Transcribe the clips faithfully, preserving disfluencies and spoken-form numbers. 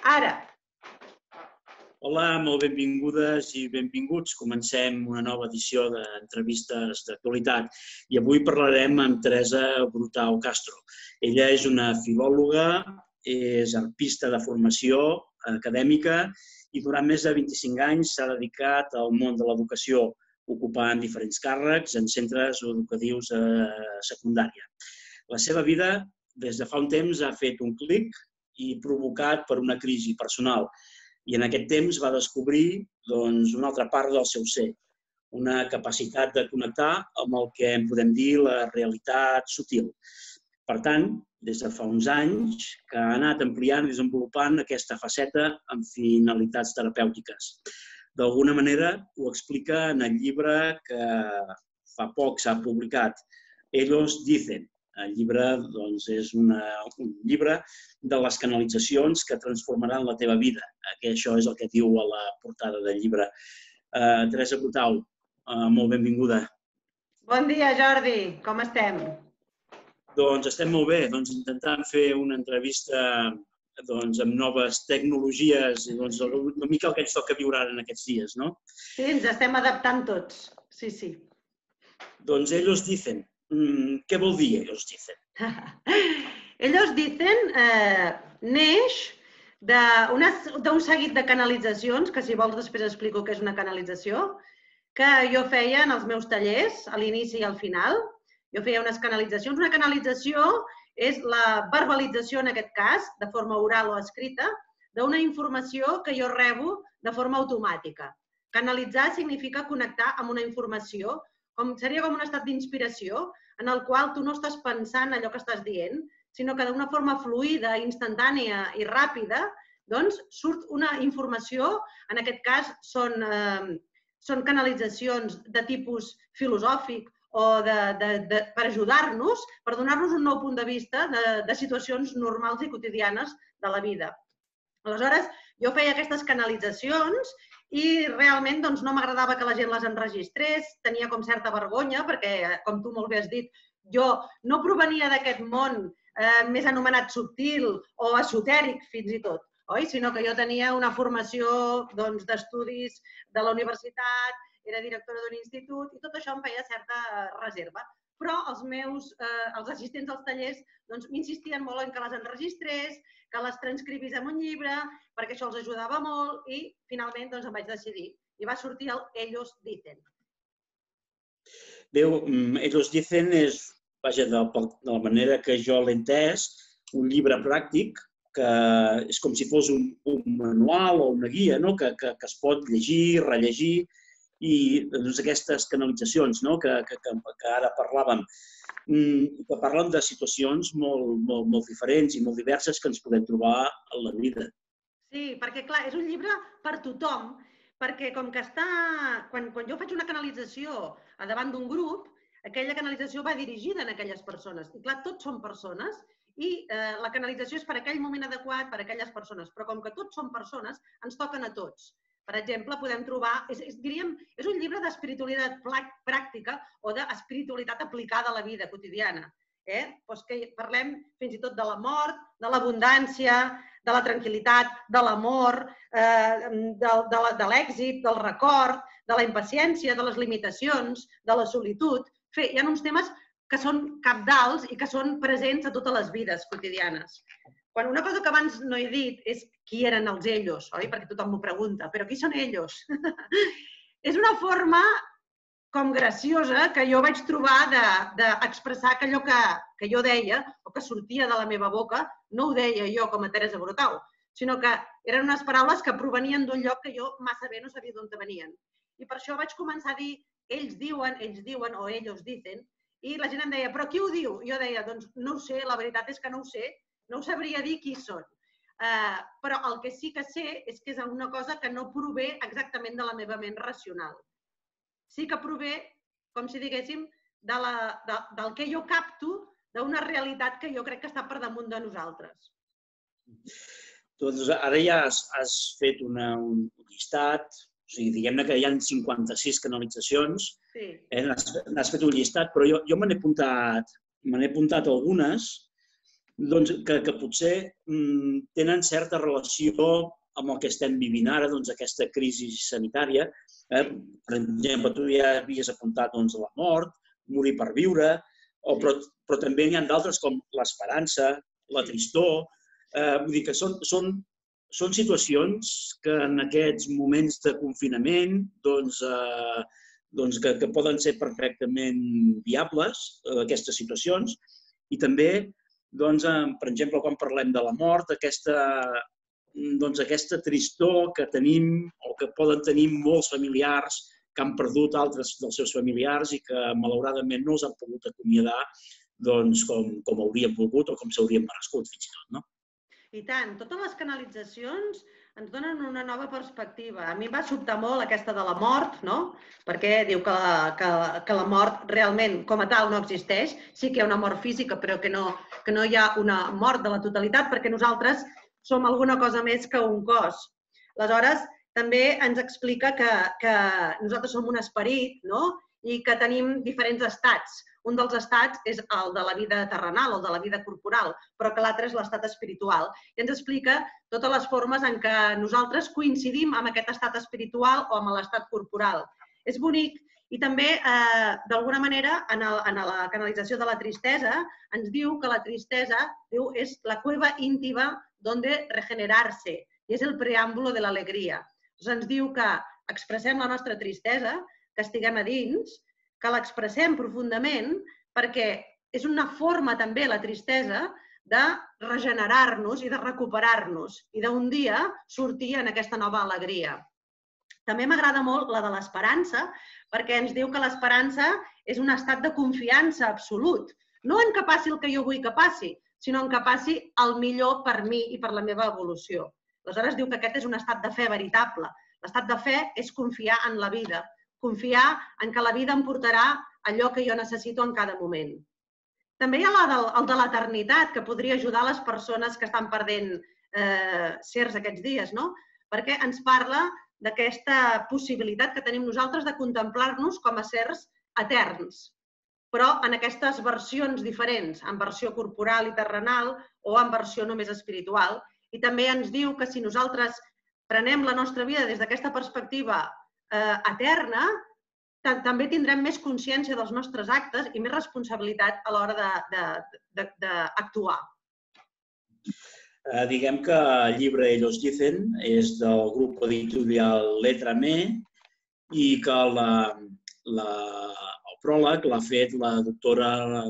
Ara. Hola, molt benvingudes i benvinguts. Comencem una nova edició d'entrevistes d'actualitat i avui parlarem amb Teresa Brutau Castro. Ella és una filòloga, és arpista de formació acadèmica i durant més de vint-i-cinc anys s'ha dedicat al món de l'educació, ocupant diferents càrrecs en centres educatius a secundària. La seva vida, des de fa un temps, ha fet un clic i provocat per una crisi personal. I en aquest temps va descobrir una altra part del seu ser, una capacitat de connectar amb el que en podem dir la realitat sutil. Per tant, des de fa uns anys que ha anat ampliant i desenvolupant aquesta faceta amb finalitats terapèutiques. D'alguna manera ho explica en el llibre que fa poc s'ha publicat, Ellos dicen. El llibre és un llibre de les canalitzacions que transformaran la teva vida. Això és el que diu a la portada del llibre. Teresa Brutau, molt benvinguda. Bon dia, Jordi. Com estem? Doncs estem molt bé, intentant fer una entrevista amb noves tecnologies, una mica el que ens toca viure ara en aquests dies, no? Sí, ens estem adaptant tots. Sí, sí. Doncs ellos dicen. Què vol dir ellos dicen? Ellos dicen neix d'un seguit de canalitzacions, que si vols després explico què és una canalització, que jo feia en els meus tallers, a l'inici i al final. Jo feia unes canalitzacions. Una canalització és la verbalització, en aquest cas, de forma oral o escrita, d'una informació que jo rebo de forma automàtica. Canalitzar significa connectar amb una informació, seria com un estat d'inspiració en el qual tu no estàs pensant allò que estàs dient, sinó que d'una forma fluida, instantània i ràpida, doncs surt una informació, en aquest cas són canalitzacions de tipus filosòfic o per ajudar-nos, per donar-nos un nou punt de vista de situacions normals i quotidianes de la vida. Aleshores, jo feia aquestes canalitzacions i realment no m'agradava que la gent les enregistrés, tenia com certa vergonya perquè, com tu molt bé has dit, jo no provenia d'aquest món més anomenat subtil o esotèric fins i tot, sinó que jo tenia una formació d'estudis de la universitat, era directora d'un institut i tot això em feia certa reserva. Però els meus assistents als tallers m'insistien molt en que les enregistrés, que les transcrivís en un llibre, perquè això els ajudava molt i finalment em vaig decidir. I va sortir el Ellos dicen. Bé, Ellos dicen és, vaja, de la manera que jo l'he entès, un llibre pràctic que és com si fos un manual o una guia que es pot llegir, rellegir i aquestes canalitzacions que ara parlàvem, que parlen de situacions molt diferents i molt diverses que ens podem trobar a la vida. Sí, perquè clar, és un llibre per tothom, perquè com que està... Quan jo faig una canalització davant d'un grup, aquella canalització va dirigida a aquelles persones. I clar, tots són persones i la canalització és per aquell moment adequat per a aquelles persones. Però com que tots són persones, ens toquen a tots. Per exemple, podem trobar... Diríem, és un llibre d'espiritualitat pràctica o d'espiritualitat aplicada a la vida quotidiana. Parlem fins i tot de la mort, de l'abundància, de la tranquil·litat, de l'amor, de l'èxit, del record, de la impaciència, de les limitacions, de la solitud. Hi ha uns temes que són cabdals i que són presents a totes les vides quotidianes. Una cosa que abans no he dit és qui eren els ellos, oi? Perquè tothom m'ho pregunta, però qui són ellos? És una forma com graciosa que jo vaig trobar d'expressar que allò que jo deia o que sortia de la meva boca no ho deia jo com a Teresa Brutau, sinó que eren unes paraules que provenien d'un lloc que jo massa bé no sabia d'on venien. I per això vaig començar a dir ells diuen, ells diuen o ellos dicen, i la gent em deia, però qui ho diu? Jo deia, doncs no ho sé, la veritat és que no ho sé, no ho sabria dir qui són. Però el que sí que sé és que és una cosa que no prové exactament de la meva ment racional. Sí que prové, com si diguéssim, del que jo capto d'una realitat que jo crec que està per damunt de nosaltres. Doncs ara ja has fet un llistat, o sigui, diguem-ne que hi ha cinquanta-sis canalitzacions, n'has fet un llistat, però jo me n'he apuntat algunes que potser tenen certa relació amb el que estem vivint ara, aquesta crisi sanitària. Per exemple, tu ja havies apuntat la mort, morir per viure, però també n'hi ha d'altres com l'esperança, la tristor. Vull dir que són situacions que en aquests moments de confinament que poden ser perfectament viables, aquestes situacions, i també, per exemple, quan parlem de la mort, aquesta tristor que tenim o que poden tenir molts familiars que han perdut altres dels seus familiars i que, malauradament, no els han pogut acomiadar com haurien volgut o com s'haurien merescut, fins i tot. I tant, totes les canalitzacions ens donen una nova perspectiva. A mi em va sobtar molt aquesta de la mort, perquè diu que la mort realment com a tal no existeix. Sí que hi ha una mort física, però que no hi ha una mort de la totalitat, perquè nosaltres som alguna cosa més que un cos. Aleshores, també ens explica que nosaltres som un esperit i que tenim diferents estats. Un dels estats és el de la vida terrenal, el de la vida corporal, però que l'altre és l'estat espiritual. I ens explica totes les formes en què nosaltres coincidim amb aquest estat espiritual o amb l'estat corporal. És bonic. I també, d'alguna manera, en la canalització de la tristesa, ens diu que la tristesa és la cueva íntima donde regenerarse, i és el preàmbulo de l'alegria. Ens diu que expressem la nostra tristesa, que estiguem a dins, que l'expressem profundament, perquè és una forma també, la tristesa, de regenerar-nos i de recuperar-nos i d'un dia sortir en aquesta nova alegria. També m'agrada molt la de l'esperança, perquè ens diu que l'esperança és un estat de confiança absolut. No en que passi el que jo vull que passi, sinó en que passi el millor per mi i per la meva evolució. Aleshores diu que aquest és un estat de fe veritable. L'estat de fe és confiar en la vida, confiar en que la vida em portarà allò que jo necessito en cada moment. També hi ha el de l'eternitat, que podria ajudar les persones que estan perdent certs aquests dies, perquè ens parla d'aquesta possibilitat que tenim nosaltres de contemplar-nos com a certs eterns, però en aquestes versions diferents, en versió corporal i terrenal o en versió només espiritual. I també ens diu que si nosaltres prenem la nostra vida des d'aquesta perspectiva eterna, també tindrem més consciència dels nostres actes i més responsabilitat a l'hora d'actuar. Diguem que el llibre Ellos dicen és del grup editorial Letra Me i que el pròleg l'ha fet la doctora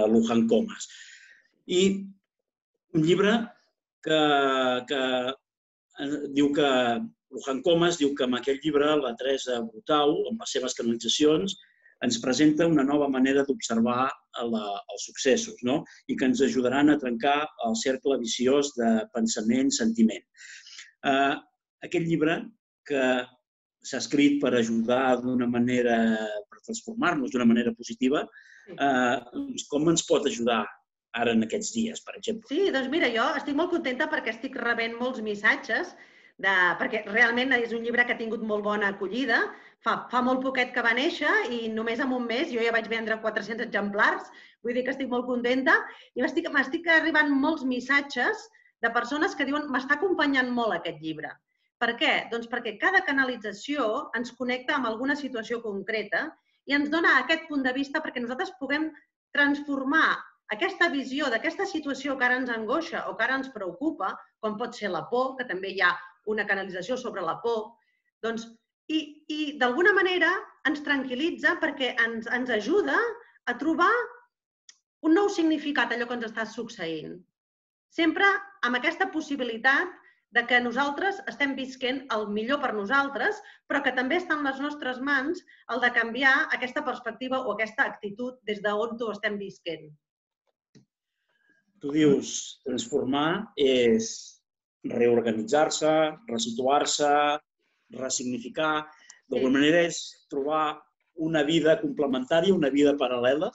Luján Comas. I un llibre que diu que Luján Comas diu que amb aquest llibre la Teresa Brutau, amb les seves canalitzacions, ens presenta una nova manera d'observar els successos i que ens ajudaran a trencar el cercle viciós de pensament-sentiment. Aquest llibre, que s'ha escrit per ajudar d'una manera, per transformar-nos d'una manera positiva, com ens pot ajudar ara en aquests dies, per exemple? Sí, doncs mira, jo estic molt contenta perquè estic rebent molts missatges, perquè realment és un llibre que ha tingut molt bona acollida. Fa molt poquet que va néixer i només en un mes jo ja vaig vendre quatre-cents exemplars, vull dir que estic molt contenta i m'estic arribant molts missatges de persones que diuen m'està acompanyant molt aquest llibre. Per què? Doncs perquè cada canalització ens connecta amb alguna situació concreta i ens dona aquest punt de vista perquè nosaltres puguem transformar aquesta visió d'aquesta situació que ara ens angoixa o que ara ens preocupa, com pot ser la por, que també hi ha una canalització sobre la por, doncs i d'alguna manera ens tranquil·litza perquè ens ajuda a trobar un nou significat a allò que ens està succeint. Sempre amb aquesta possibilitat que nosaltres estem visquent el millor per nosaltres, però que també està en les nostres mans el de canviar aquesta perspectiva o aquesta actitud des d'on ho estem visquent. Tu dius, transformar és reorganitzar-se, resituar-se, ressignificar. D'alguna manera és trobar una vida complementària, una vida paral·lela?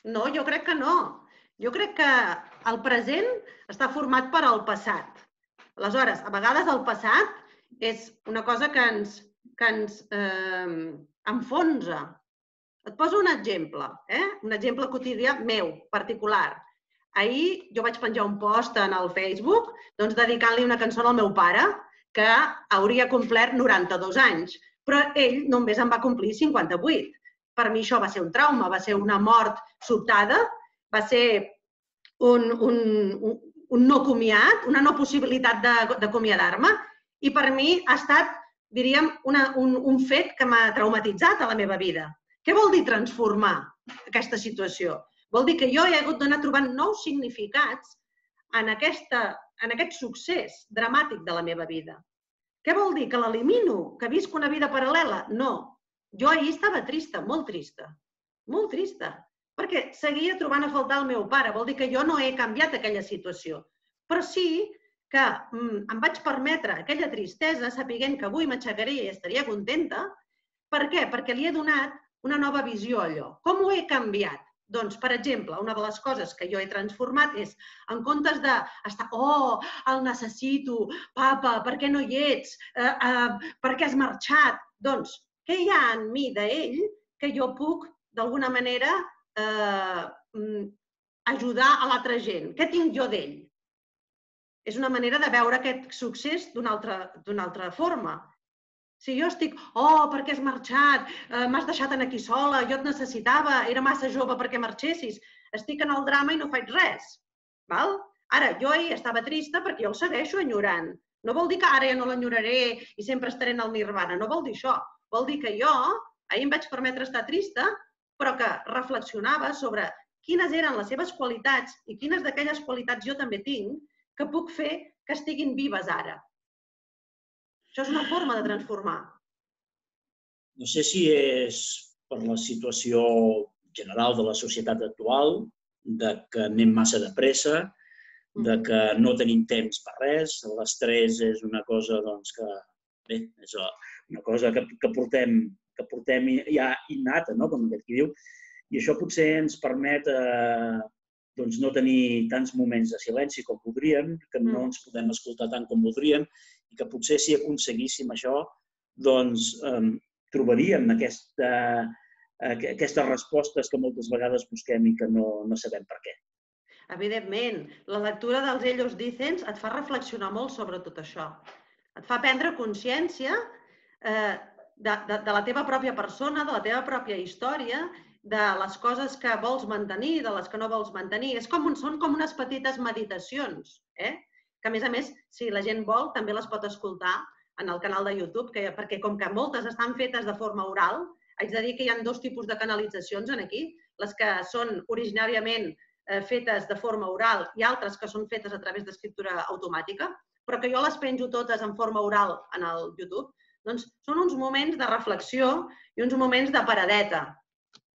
No, jo crec que no. Jo crec que el present està format per al passat. Aleshores, a vegades el passat és una cosa que ens enfonsa. Et poso un exemple, eh? Un exemple quotidià meu, particular. Ahir jo vaig penjar un post en el Facebook doncs, dedicant-li una cançó al meu pare, que hauria complert noranta-dos anys, però ell només en va complir cinquanta-vuit. Per mi això va ser un trauma, va ser una mort sobtada, va ser un, un, un, un no comiat, una no possibilitat d'acomiadar-me, i per mi ha estat, diríem, una, un, un fet que m'ha traumatitzat a la meva vida. Què vol dir transformar aquesta situació? Vol dir que jo he hagut d'anar trobant nous significats en, aquesta, en aquest succés dramàtic de la meva vida. Què vol dir? Que l'elimino? Que visc una vida paral·lela? No. Jo ahir estava trista, molt trista. Molt trista. Perquè seguia trobant a faltar el meu pare. Vol dir que jo no he canviat aquella situació. Però sí que mm, em vaig permetre aquella tristesa sapiguent que avui m'aixecaria i estaria contenta. Per què? Perquè li he donat una nova visió a allò. Com ho he canviat? Doncs, per exemple, una de les coses que jo he transformat és, en comptes d'estar, oh, el necessito, papa, per què no hi ets? Eh, eh, per què has marxat? Doncs, què hi ha en mi d'ell que jo puc, d'alguna manera, eh, ajudar a l'altra gent? Què tinc jo d'ell? És una manera de veure aquest succés d'una altra, d'una altra forma. Si jo estic, oh, per què has marxat? Eh, M'has deixat aquí sola, jo et necessitava, era massa jove perquè marxessis. Estic en el drama i no faig res. Val? Ara, jo ahir estava trista perquè jo el segueixo enyorant. No vol dir que ara ja no l'enyoraré i sempre estaré en el nirvana, no vol dir això. Vol dir que jo ahir em vaig permetre estar trista, però que reflexionava sobre quines eren les seves qualitats i quines d'aquelles qualitats jo també tinc que puc fer que estiguin vives ara. Això és una forma de transformar. No sé si és per la situació general de la societat actual, de que anem massa de pressa, de que no tenim temps per res. L'estrès és una cosa doncs, que, bé, és una cosa que, que, portem, que portem ja innata, no? Com aquest qui diu, i això potser ens permet eh, doncs, no tenir tants moments de silenci com voldríem, que no ens podem escoltar tant com voldríem, i que potser si aconseguíssim això, doncs eh, trobaríem aquesta, eh, aquestes respostes que moltes vegades busquem i que no, no sabem per què. Evidentment, la lectura dels Ellos Dicen et fa reflexionar molt sobre tot això. Et fa prendre consciència eh, de, de, de la teva pròpia persona, de la teva pròpia història, de les coses que vols mantenir, de les que no vols mantenir. És com un, són com unes petites meditacions, eh? Que a més a més, si la gent vol, també les pot escoltar en el canal de YouTube, que, perquè com que moltes estan fetes de forma oral, haig de dir que hi ha dos tipus de canalitzacions aquí, les que són originàriament eh, fetes de forma oral i altres que són fetes a través d'escriptura automàtica, però que jo les penjo totes en forma oral en el YouTube, doncs són uns moments de reflexió i uns moments de paradeta,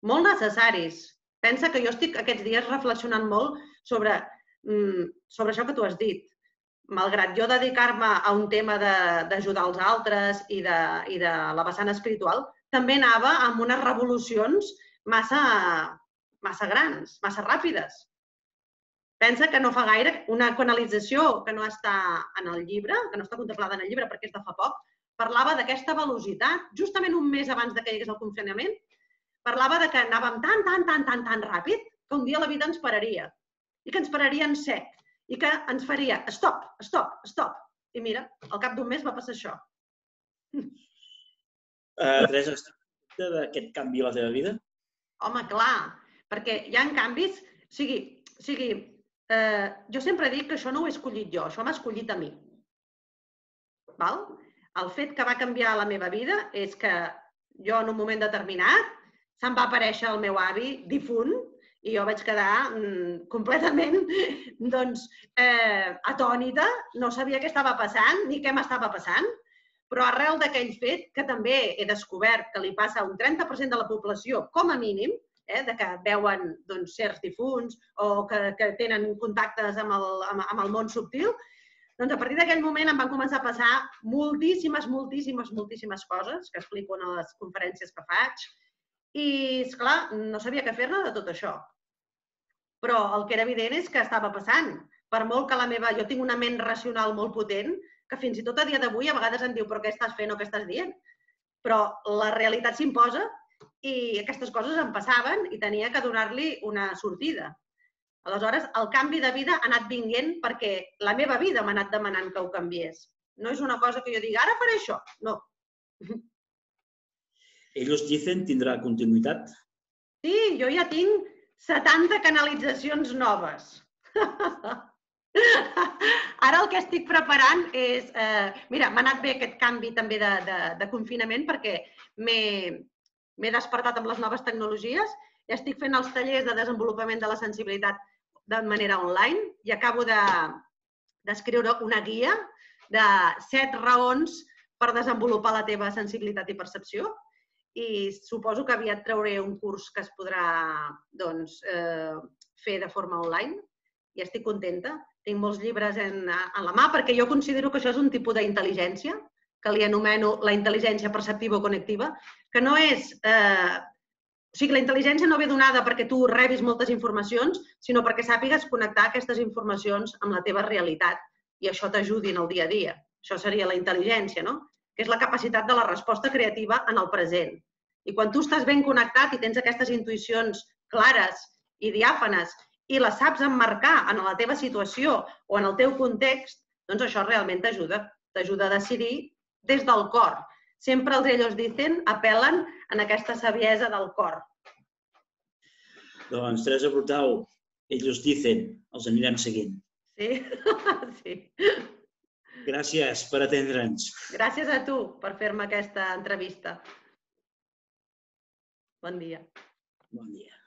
molt necessaris. Pensa que jo estic aquests dies reflexionant molt sobre, mm, sobre això que tu has dit. Malgrat jo dedicar-me a un tema d'ajudar els altres i de, i de la vessant espiritual, també anava amb unes revolucions massa, massa grans, massa ràpides. Pensa que no fa gaire una canalització que no està en el llibre, que no està contemplada en el llibre perquè és de fa poc, parlava d'aquesta velocitat, justament un mes abans de que hi hagués el confinament, parlava de que anàvem tan, tan, tan, tan, tan ràpid que un dia la vida ens pararia i que ens pararia en sec. I que ens faria stop, stop, stop. I mira, al cap d'un mes va passar això. Uh, Teresa, estàs contenta d'aquest canvi a la teva vida? Home, clar, perquè hi ha canvis... O sigui, o sigui eh, jo sempre dic que això no ho he escollit jo, això m'ha escollit a mi. Val? El fet que va canviar la meva vida és que jo en un moment determinat se'm va aparèixer el meu avi difunt i jo vaig quedar mm, completament doncs, eh, atònita, no sabia què estava passant ni què m'estava passant, però arrel d'aquell fet, que també he descobert que li passa a un trenta per cent de la població, com a mínim, eh, de que veuen doncs, certs difunts o que, que tenen contactes amb el, amb, amb el món subtil, doncs a partir d'aquell moment em van començar a passar moltíssimes, moltíssimes, moltíssimes coses que explico en les conferències que faig i, esclar, no sabia què fer-ne de tot això. Però el que era evident és que estava passant. Per molt que la meva... Jo tinc una ment racional molt potent que fins i tot a dia d'avui a vegades em diu però què estàs fent o què estàs dient? Però la realitat s'imposa i aquestes coses em passaven i tenia que donar-li una sortida. Aleshores, el canvi de vida ha anat vinguent perquè la meva vida m'ha anat demanant que ho canviés. No és una cosa que jo digui, ara faré això. No. Ellos dicen tindrà continuïtat? Sí, jo ja tinc setanta canalitzacions noves. Ara el que estic preparant és... Eh, mira, m'ha anat bé aquest canvi també de, de, de confinament perquè m'he despertat amb les noves tecnologies i estic fent els tallers de desenvolupament de la sensibilitat de manera online i acabo d'escriure de, una guia de set raons per desenvolupar la teva sensibilitat i percepció i suposo que aviat trauré un curs que es podrà doncs, eh, fer de forma online i estic contenta. Tinc molts llibres en, en la mà perquè jo considero que això és un tipus d'intel·ligència que li anomeno la intel·ligència perceptiva o connectiva, que no és... Eh, o sigui, la intel·ligència no ve donada perquè tu rebis moltes informacions, sinó perquè sàpigues connectar aquestes informacions amb la teva realitat i això t'ajudi en el dia a dia. Això seria la intel·ligència, no? Que és la capacitat de la resposta creativa en el present. I quan tu estàs ben connectat i tens aquestes intuïcions clares i diàfanes i les saps emmarcar en la teva situació o en el teu context, doncs això realment t'ajuda. T'ajuda a decidir des del cor. Sempre els ellos dicen, apel·len en aquesta saviesa del cor. Doncs, Teresa Brutau, ellos dicen, els anirem seguint. Sí, sí. Gràcies per atendre'ns. Gràcies a tu per fer-me aquesta entrevista. Bon dia. Bon dia.